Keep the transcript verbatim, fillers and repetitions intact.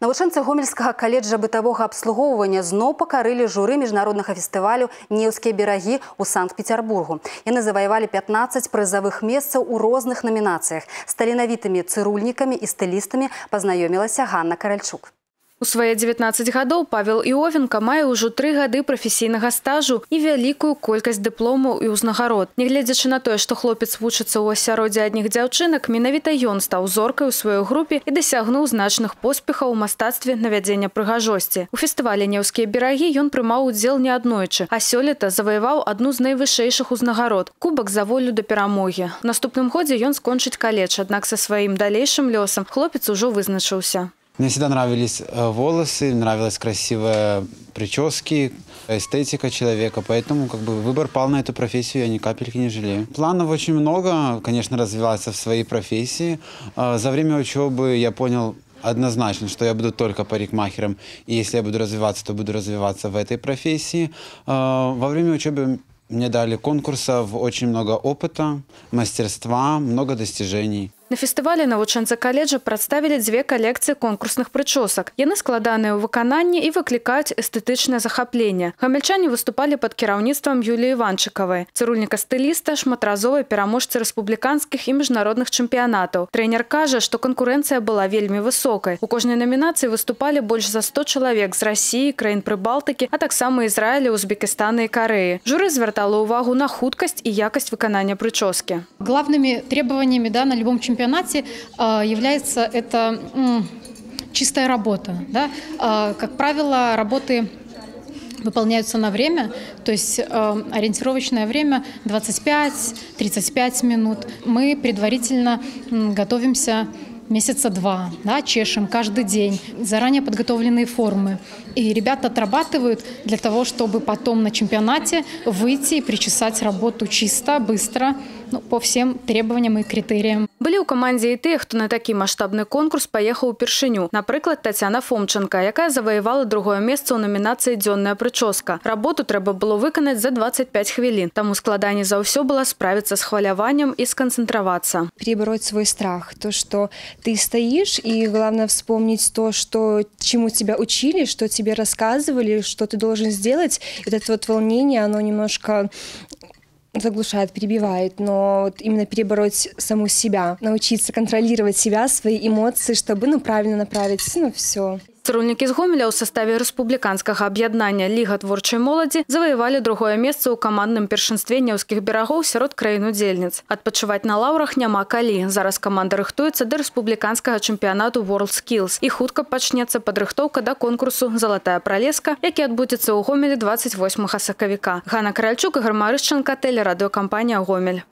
Навучэнцы Гомельскага каледжа бытавога абслугоўвання зноў пакарылі журы міжнароднага фестывалю «Неўскія берагі» у Санкт-Петербургу. Яны заваявалі пятнаццаць прызавых месцаў у розных намінацыях. З таленавітымі цырульнікамі і стылістамі пазнаёмілася Ганна Каральчук. У свае дзевятнаццаць гадоў Павел Іовенка мае ўжо тры гады прафесійнага стажу і вялікую колькасць дыпломаў і ўзнагарод. Нягледзячы на тое, што хлопец вучыцца ў асяроддзі адных дзяўчынак, менавіта ён стаў зоркай у сваёй групе і дасягнуў значных поспехаў у мастацтве навядзення прыгажосці. У фестывалі «Неўскія берагі» ён прымаў удзел неаднойчы, а сёлета заваяваў адну з найвышэйшых узнагарод – кубак за волю да перамогі. У наступным годзе ён скончыць каледж, аднак са сваім далейшым лёсам хлопец ужо вызначыўся. Мне всегда нравились волосы, нравилась красивая прически, эстетика человека, поэтому как бы выбор пал на эту профессию, я ни капельки не жалею. Планов очень много, конечно, развиваться в своей профессии. За время учебы я понял однозначно, что я буду только парикмахером, и если я буду развиваться, то буду развиваться в этой профессии. Во время учебы мне дали конкурсов очень много опыта, мастерства, много достижений. На фестывалі навучэнцы каледжа прадставілі дзве калекцыі конкурсных прычосак. Яны складаныя ў выкананні і выклікаюць эстэтычнае захапленне. Гамельчане выступалі пад кіраўніцтвам Юліі Іванчыкавай, цырульніка-стыліста, шматразовай пераможцы рэспубліканскіх і міжнародных чэмпіянатаў. Трэнер кажа, што канкурэнцыя была вельмі высокай. У кожнай намінацыі выступалі больш за сто чалавек з Расіі, краін Прыбалтыкі, а таксама Ізраіля, Узбекістана і Карэі. Журы звяртала ўвагу на хуткасць і якасць выканання прычоскі. Главными требованиями, да, на любом чемпионате чемпионате является это чистая работа. Да? Как правило, работы выполняются на время, то есть ориентировочное время двадцать пять — тридцать пять минут. Мы предварительно готовимся месяца два, да, чешем каждый день, заранее подготовленные формы. И ребята отрабатывают для того, чтобы потом на чемпионате выйти и причесать работу чисто, быстро, ну, по всем требованиям и критериям. Былі ў камандзе і тыя, хто на такі маштабны конкурс паехаў упершыню. Напрыклад, Тацяна Фомченка, якая заваявала другое месца ў намінацыі «Дзённая прычоска». Работу трэба было выканаць за двадцать пять хвілін. Таму складаней за ўсё было справіцца з хваляваннем і сконцентроваться. Перебороть свой страх, то, что ты стоишь, и главное вспомнить то, что, чему тебя учили, что тебе рассказывали, что ты должен сделать. И вот это вот волнение, оно немножко заглушает, перебивает, но вот именно перебороть саму себя, научиться контролировать себя, свои эмоции, чтобы, ну, правильно направить, ну, все. Цырульнікі з Гомеля ў саставе рэспубліканскага аб'яднання «Ліга творчай моладзі» заваявалі другое месца ў камандным першынстве Неўскіх берагоў сярод краін-удзельніц. Адпачываць на лаўрах няма калі. Зараз каманда рыхтуецца да рэспубліканскага чэмпіянату WorldSkills. І хутка пачнецца падрыхтоўка да конкурсу «Залатая пралеска», які адбудзецца ў Гомелі двадцать восьмага сакавіка. Ганна Каральчук, Ігор Марышченка, тэлерадыёкампанія «Гомель».